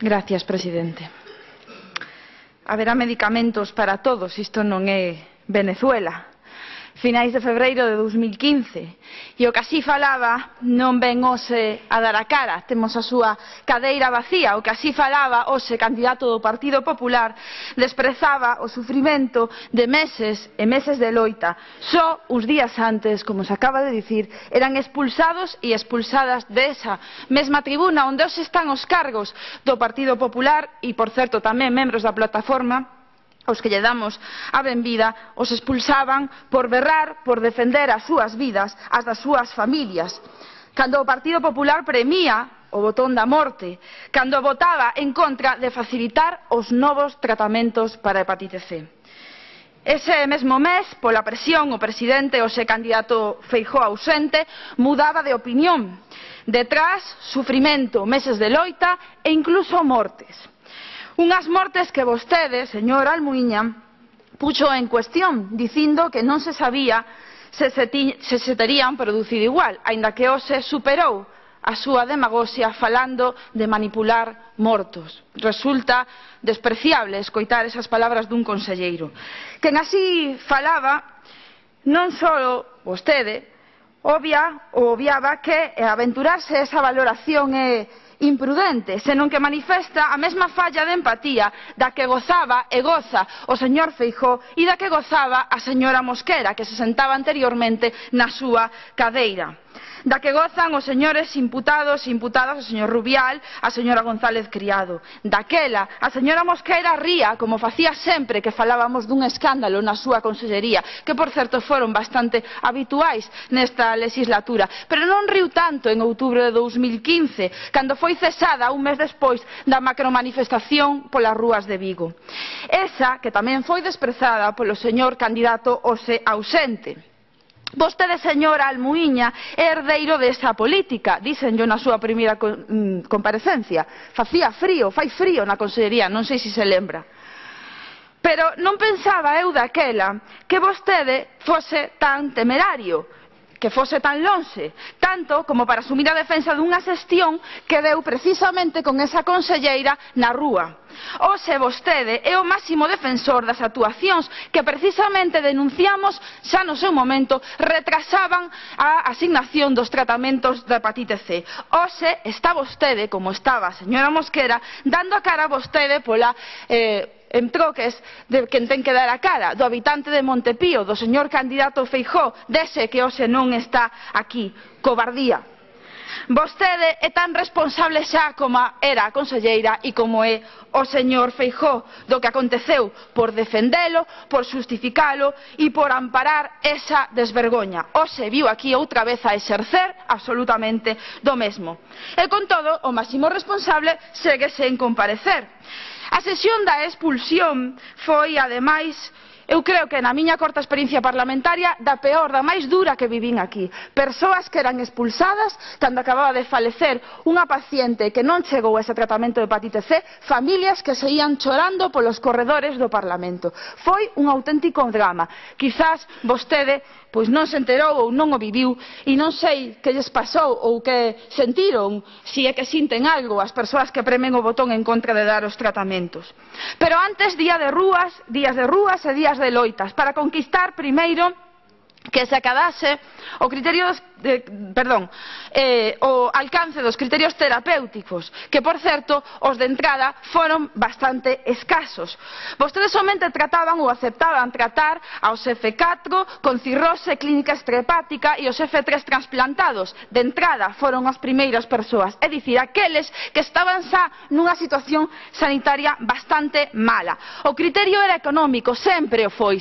Gracias, presidente. Haberá medicamentos para todos, isto non é Venezuela. Finais de febreiro de 2015 e o que así falaba non ven hoxe a dar a cara, temos a súa cadeira vacía. O que así falaba hoxe candidato do Partido Popular desprezaba o sufrimento de meses e meses de loita. Só uns días antes, como se acaba de dicir, eran expulsados e expulsadas desa mesma tribuna onde hoxe están os cargos do Partido Popular e, por certo, tamén membros da plataforma aos que lle damos a benvida, os expulsaban por berrar, por defender as súas vidas, as das súas familias. Cando o Partido Popular premia o botón da morte, cando votaba en contra de facilitar os novos tratamentos para a hepatite C. Ese mesmo mes, pola presión, o presidente, hoxe candidato Feijóo ausente, mudaba de opinión. Detrás, sufrimento, meses de loita e incluso mortes. Unhas mortes que vostede, señor Almuíña, puxo en cuestión, dicindo que non se sabía se terían producido igual, aínda que hoxe superou a súa demagoxia falando de manipular mortos. Resulta despreciable escoitar esas palabras dun conselleiro. Quen así falaba, non só vostede, obviaba que aventurarse esa valoración é imprudente, senón que manifesta a mesma falla de empatía da que gozaba e goza o señor Feijóo e da que gozaba a señora Mosquera, que se sentaba anteriormente na súa cadeira, da que gozan os señores imputados e imputadas, o señor Rubial, a señora González Criado. Daquela, a señora Mosquera ría, como facía sempre que falábamos dun escándalo na súa consellería, que, por certo, foron bastante habituais nesta legislatura, pero non riu tanto en outubro de 2015, cando foi cesada un mes despois da macromanifestación polas rúas de Vigo. Esa que tamén foi desprezada polo señor candidato hoxe ausente. Vostede, señora Almuíña, é herdeiro desa política, díxenllo na súa primeira comparecencia. Facía frío, fai frío na consellería, non sei se se lembra. Pero non pensaba eu daquela que vostede fose tan temerario, que fose tan lonxe, tanto como para asumir a defensa dunha xestión que deu precisamente con esa conselleira na rúa. Hoxe vostede é o máximo defensor das actuacións que precisamente denunciamos xa no seu momento retrasaban a asignación dos tratamentos da hepatite C. Hoxe está vostede, como estaba a señora Mosquera, dando a cara a vostede pola en troques de quen ten que dar a cara, do habitante de Montepío, do señor candidato Feijóo, dese que hoxe non está aquí. Cobardía. Vostede é tan responsable xa como era a conselleira e como é o señor Feijóo do que aconteceu por defendelo, por xustificalo e por amparar esa desvergoña. Hoxe viu aquí outra vez a exercer absolutamente do mesmo. E con todo, o máximo responsable segue sen comparecer. A sesión da expulsión foi, ademais, eu creo que na miña corta experiencia parlamentaria, da peor, da máis dura que vivín aquí. Persoas que eran expulsadas cando acababa de falecer unha paciente que non chegou a ese tratamento de hepatite C, familias que se ían chorando polos corredores do Parlamento. Foi un auténtico drama. Quizás vostede pois non se enterou ou non o viviu e non sei que lles pasou ou que sentiron, se é que sinten algo as persoas que premen o botón en contra de dar os tratamentos. Pero antes, días de rúas e días de loitas para conquistar primeiro que se acadase o criterio o alcance dos criterios terapéuticos, que, por certo, os de entrada foron bastante escasos. Vostedes somente trataban ou aceptaban tratar aos F4 con cirrose clínica extrahepática e os F3 transplantados. De entrada foron as primeiras persoas, é dicir, aqueles que estaban xa nunha situación sanitaria bastante mala. O criterio era económico, sempre foi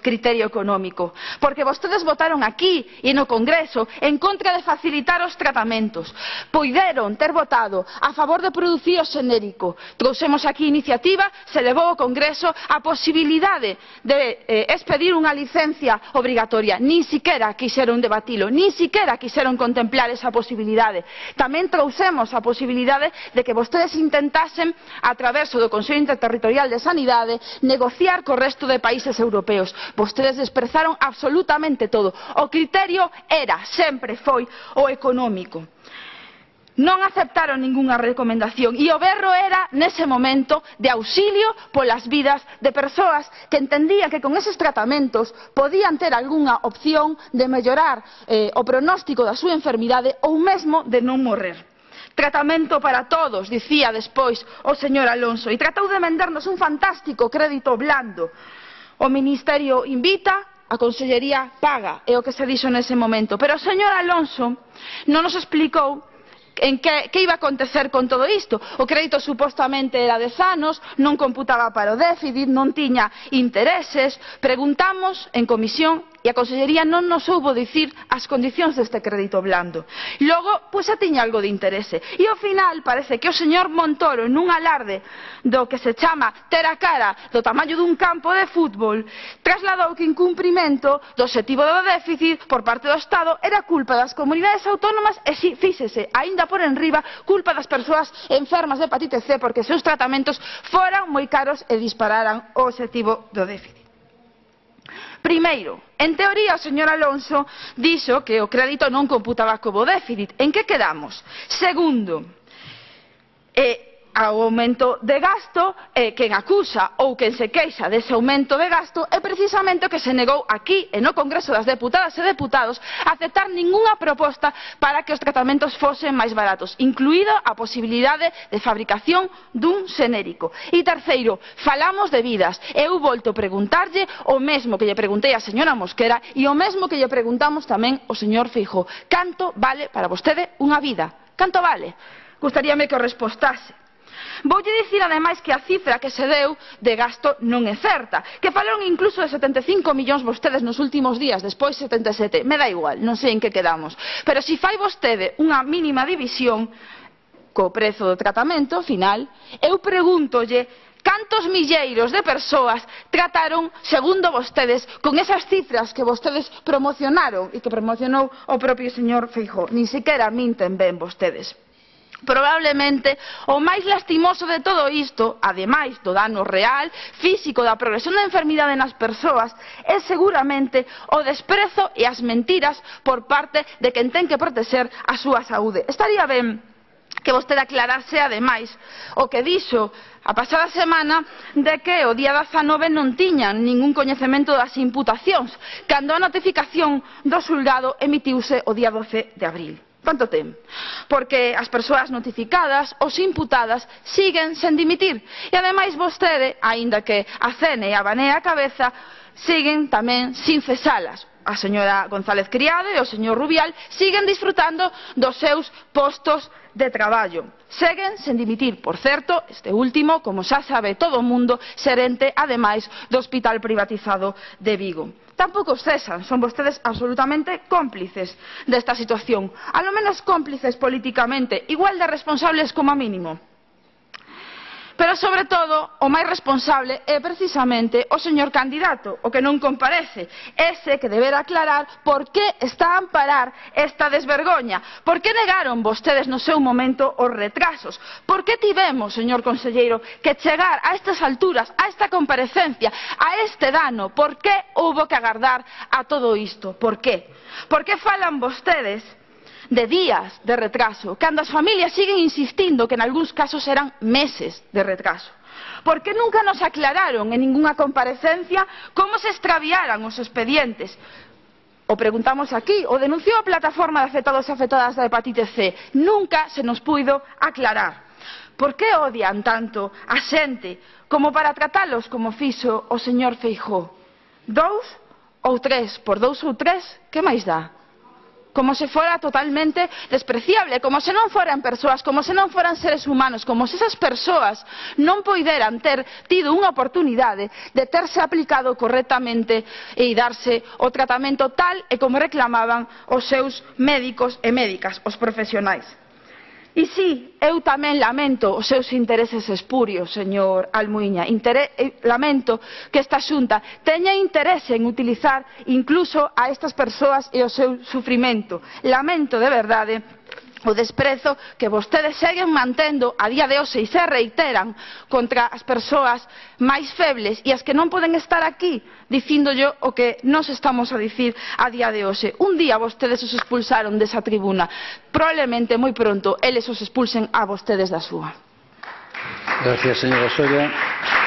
criterio económico, porque vostedes votaron aquí e no Congreso en contra de facilitar os tratamentos. Poideron ter votado a favor de producir o xenérico. Trouxemos aquí iniciativa, se levou ao Congreso a posibilidade de expedir unha licencia obrigatoria. Nin siquiera quixeron debatilo, nin siquiera quixeron contemplar esa posibilidade. Tamén trouxemos a posibilidade de que vostedes intentasen, a través do Consello Interterritorial de Sanidade, negociar co resto de países europeos. Vostedes desprezaron absolutamente todo. O criterio era, sempre foi, o económico. non aceptaron ningunha recomendación e o berro era, nese momento, de auxilio polas vidas de persoas que entendían que con eses tratamentos podían ter algunha opción de mellorar o pronóstico da súa enfermidade ou mesmo de non morrer. Tratamento para todos, dicía despois o señor Alonso, e tratou de vendernos un fantástico crédito blando. O Ministerio invita, a Consellería paga, é o que se dixo nese momento. Pero o señor Alonso non nos explicou que iba a acontecer con todo isto. O crédito supostamente era de anos, non computaba para o déficit, non tiña intereses. Preguntamos en comisión e a Consellería non nos soubo dicir as condicións deste crédito blando. Logo, pois xa tiña algo de interese. E ao final parece que o señor Montoro, nun alarde do que se chama ter a cara do tamaño dun campo de fútbol, trasladou que incumprimento do obxectivo do déficit por parte do Estado era culpa das comunidades autónomas e, si, fíxese, aínda por enriba, culpa das persoas enfermas de hepatite C porque os seus tratamentos foran moi caros e dispararan o obxectivo do déficit. Primeiro, en teoría o señor Alonso dixo que o crédito non computaba como déficit. En que quedamos? Segundo, ao aumento de gasto, quen acusa ou quen se queixa dese aumento de gasto é precisamente o que se negou aquí e no Congreso das Deputadas e Deputados a aceptar ningunha proposta para que os tratamentos fosen máis baratos, incluída a posibilidade de fabricación dun xenérico. E terceiro, falamos de vidas. Eu volto a preguntarlle o mesmo que lle preguntei á señora Mosquera e o mesmo que lle preguntamos tamén ao señor Feijóo. Canto vale para vostede unha vida? Canto vale? Gustaríame que o respostase. Voulle dicir ademais que a cifra que se deu de gasto non é certa, que falaron incluso de 75 millóns vostedes nos últimos días, despois 77, me dá igual, non sei en que quedamos, pero se fai vostede unha mínima división co prezo do tratamento final, eu pregúntolle cantos milleiros de persoas trataron, segundo vostedes, con esas cifras que vostedes promocionaron e que promocionou o propio señor Feijóo. Nin sequera minten ben vostedes. Probablemente o máis lastimoso de todo isto, ademais do dano real, físico da progresión da enfermidade nas persoas, é seguramente o desprezo e as mentiras por parte de quen ten que protexer a súa saúde. Estaría ben que vostede aclarase, ademais, o que dixo a pasada semana de que o día 19 non tiñan ningún coñecemento das imputacións, cando a notificación do xulgado emitiuse o día 12 de abril. Canto ten? Porque as persoas notificadas, os imputadas, siguen sen dimitir. E ademais vostede, aínda que acene e abanea a cabeza, siguen tamén sin cesalas. A señora González Criado e o señor Rubial siguen disfrutando dos seus postos de traballo. Seguen sen dimitir, por certo, este último, como xa sabe todo o mundo, xerente, ademais, do hospital privatizado de Vigo. Tampouco os cesan, son vostedes absolutamente cómplices desta situación, a lo menos cómplices políticamente, igual de responsables como mínimo. Pero, sobre todo, o máis responsable é precisamente o señor candidato, o que non comparece, ese que deberá aclarar por que está a amparar esta desvergoña, por que negaron vostedes no seu momento os retrasos, por que tivemos, señor conselleiro, que chegar a estas alturas, a esta comparecencia, a este dano, por que houbo que agardar a todo isto, por que? Por que falan vostedes de días de retraso, cando as familias siguen insistindo que en algúns casos eran meses de retraso? Por que nunca nos aclararon en ningunha comparecencia como se extraviaran os expedientes? O preguntamos aquí, o denunciou a plataforma de afectados e afectadas da hepatite C, nunca se nos puido aclarar. Por que odian tanto a xente como para tratalos como fixo o señor Feijóo? 2 ou 3, por 2 ou 3, que máis dá? Como se fora totalmente despreciable, como se non foran persoas, como se non foran seres humanos, como se esas persoas non poideran ter tido unha oportunidade de terse aplicado correctamente e darse o tratamento tal e como reclamaban os seus médicos e médicas, os profesionais. E si, eu tamén lamento os seus intereses espurios, señor Almuíña. Lamento que esta Xunta teña interese en utilizar incluso a estas persoas e o seu sufrimento. Lamento de verdade o desprezo que vostedes seguen mantendo a día de hoxe e se reiteran contra as persoas máis febles e as que non poden estar aquí dicíndolle o que nos estamos a dicir a día de hoxe. Un día vostedes os expulsaron desa tribuna, probablemente moi pronto eles os expulsen a vostedes da súa. Gracias, señora Soria.